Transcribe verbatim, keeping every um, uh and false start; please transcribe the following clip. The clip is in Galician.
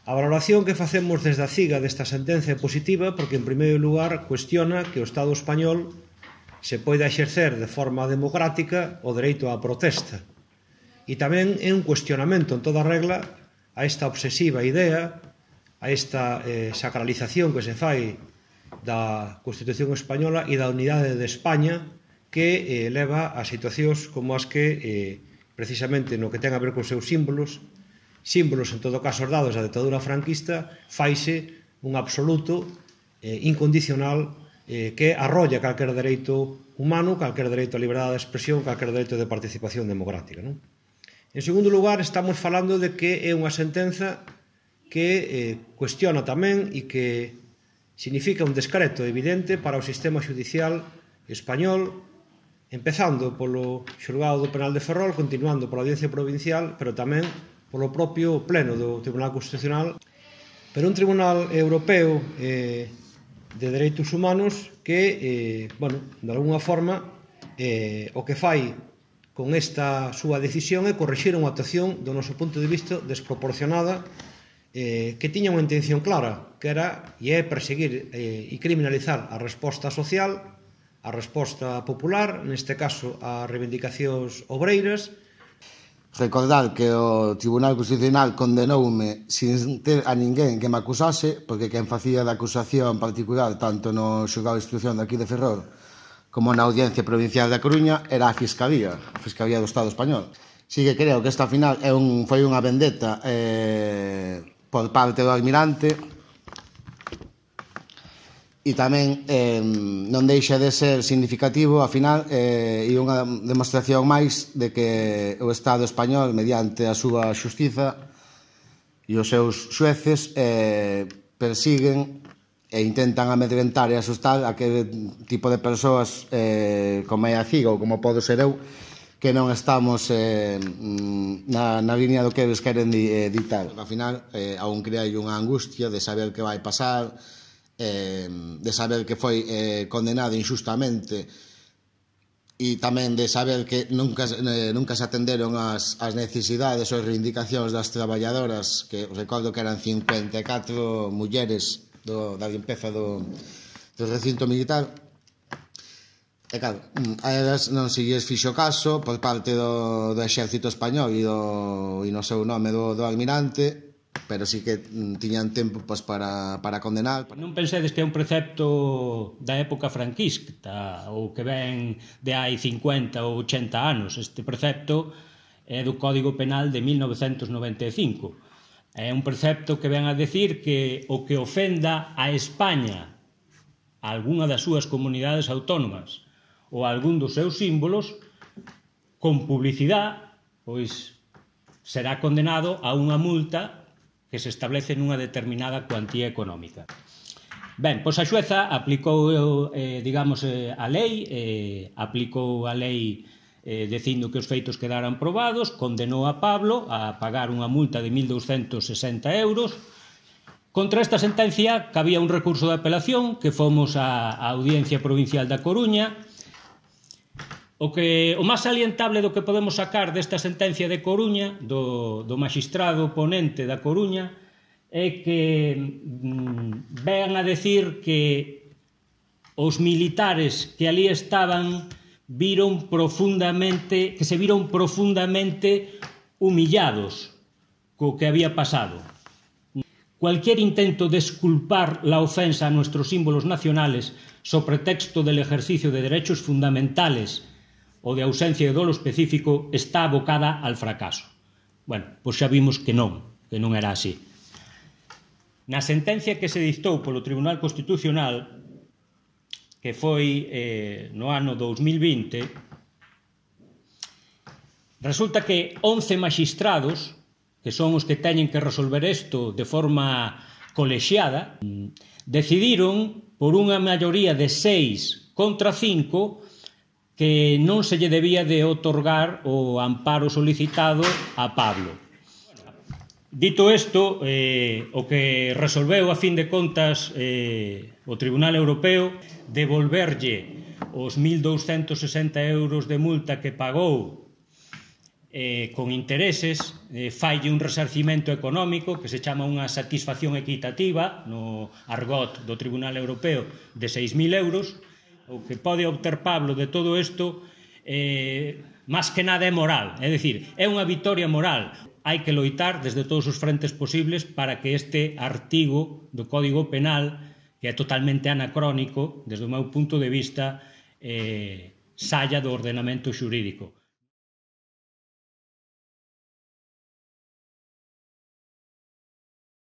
A valoración que facemos desde a CIGA desta sentenza é positiva porque, en primeiro lugar, cuestiona que o Estado español se poida exercer de forma democrática o dereito á protesta. E tamén é un cuestionamento en toda regla a esta obsesiva idea, a esta eh, sacralización que se fai da Constitución española e da unidade de España que eh, leva a situacións como as que, eh, precisamente no que ten a ver con seus símbolos, símbolos en todo caso dados da ditadura franquista, faise un absoluto eh, incondicional eh, que arrolla calquer dereito humano, calquer dereito á liberdade de expresión, calquer dereito de participación democrática, non? En segundo lugar, estamos falando de que é unha sentenza que eh, cuestiona tamén e que significa un descreto evidente para o sistema judicial español, empezando polo xulgado do penal de Ferrol, continuando pola audiencia provincial, pero tamén polo propio pleno do Tribunal Constitucional, pero un Tribunal Europeo eh, de Dereitos Humanos que, eh, bueno, de alguna forma, eh, o que fai con esta súa decisión é corrixir unha actuación, do noso punto de vista, desproporcionada, eh, que tiña unha intención clara, que era e é perseguir eh, e criminalizar a resposta social, a resposta popular, neste caso a reivindicacións obreiras. Recordar que o Tribunal Constitucional condenoume sin ter a ninguén que me acusase, porque quen facía da acusación particular tanto no xulgado de instrucción de aquí de Ferrol como na Audiencia Provincial da Coruña era a Fiscalía, a Fiscalía do Estado Español. Si que creo que esta final é un, foi unha vendetta eh, por parte do almirante e tamén eh, non deixa de ser significativo, a final, eh, e unha demostración máis de que o Estado español, mediante a súa xustiza e os seus xueces, eh, persiguen e intentan amedrentar e asustar aquele tipo de persoas eh, como é a CIGA ou como podo ser eu, que non estamos eh, na, na línea do que eles queren eh, ditar. Ao final, eh, aún crea unha angustia de saber que vai pasar, Eh, de saber que foi eh, condenado injustamente e tamén de saber que nunca, eh, nunca se atenderon as, as necesidades ou reivindicacións das traballadoras, que recordo que eran cincuenta e catro mulleres do, da limpeza do, do recinto militar. E claro, a elas non se lles fixo caso por parte do, do exército español e, do, e no seu nome do, do almirante, pero sí que tiñan tempo pues, para, para condenar. Non pensedes que é un precepto da época franquista ou que ven de hai cincuenta ou ochenta anos. Este precepto é do Código Penal de mil novecentos noventa e cinco. É un precepto que ven a decir que o que ofenda a España, a algunha das súas comunidades autónomas ou a algún dos seus símbolos, con publicidade, pois será condenado a unha multa que se establece nunha determinada cuantía económica. Ben, pois a xueza aplicou, eh, digamos, eh, a lei, eh, aplicou a lei eh, dicindo que os feitos quedaran probados, condenou a Pablo a pagar unha multa de mil douscentos sesenta euros. Contra esta sentencia cabía un recurso de apelación que fomos á Audiencia Provincial da Coruña. O que o máis salientable do que podemos sacar desta sentencia de Coruña, do, do magistrado ponente da Coruña, é que mm, vean a decir que os militares que ali estaban viron profundamente, que se viron profundamente humillados co que había pasado. Cualquier intento de esculpar la ofensa a nuestros símbolos nacionales so pretexto del ejercicio de derechos fundamentales ou de ausencia de dolo específico está abocada al fracaso. Bueno, pois xa vimos que non, que non era así. Na sentencia que se dictou polo Tribunal Constitucional, que foi eh, no ano dous mil vinte, resulta que once magistrados, que son os que teñen que resolver isto de forma colexiada, decidiron por unha maioría de seis contra cinco que non se lle debía de otorgar o amparo solicitado a Pablo. Dito isto, eh, o que resolveu a fin de contas eh, o Tribunal Europeo devolverlle os mil douscentos sesenta euros de multa que pagou eh, con intereses, eh, falle un resarcimento económico que se chama unha satisfacción equitativa no argot do Tribunal Europeo de seis mil euros. O que pode obter Pablo de todo isto eh, máis que nada é moral, é dicir, é unha vitoria moral. Hai que loitar desde todos os frentes posibles para que este artigo do Código Penal, que é totalmente anacrónico desde o meu punto de vista, eh, saia do ordenamento xurídico.